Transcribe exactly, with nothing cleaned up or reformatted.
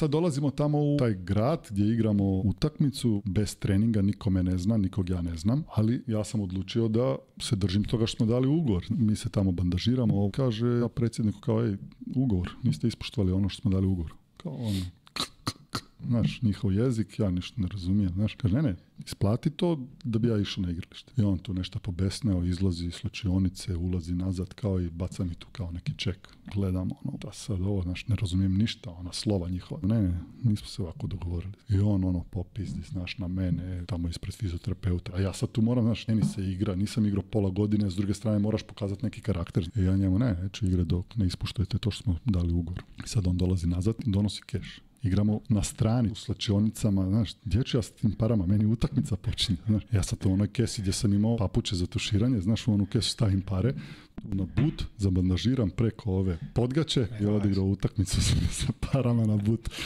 sad dolazimo tamo u taj grad gdje igramo utakmicu bez treninga, niko me ne zna, nikog ja ne znam, ali ja sam odlučio da se držim toga što smo dali ugovor. Mi se tamo bandažiramo, kaže predsjedniku kao, ej, ugovor, niste ispoštovali ono što smo dali ugovor. Kao ono, znaš, njihov jezik, ja ništa ne razumijem, znaš, kaže, ne, ne, isplati to da bi ja išao na igralište. I on tu nešto pobesneo, izlazi iz slučionice, ulazi nazad kao i baca mi tu kao neki ček. Gledamo, ono, da sad ovo, znaš, ne razumijem ništa, ona slova njihova. Ne, ne, nismo se ovako dogovorili. I on, ono, popizdi, znaš, na mene, tamo ispred fizioterapeuta. A ja sad tu moram, znaš, meni se igra, nisam igrao pola godine, s druge strane moraš pokazati neki karakter. I ja njemu, ne, neću igre dok ne ispuštujete to što smo dali ugovor. I sad on dolazi nazad i donosi keš. Igramo na strani, u slačionicama, znaš, gdje ću ja s tim parama, meni utakmica počinje, znaš. Ja sad u onoj kesi gdje sam imao papuče za tuširanje, znaš, u onu kesu stavim pare, tu na but, zabandažiram preko ove podgaće i odigrao utakmicu sa parama na but.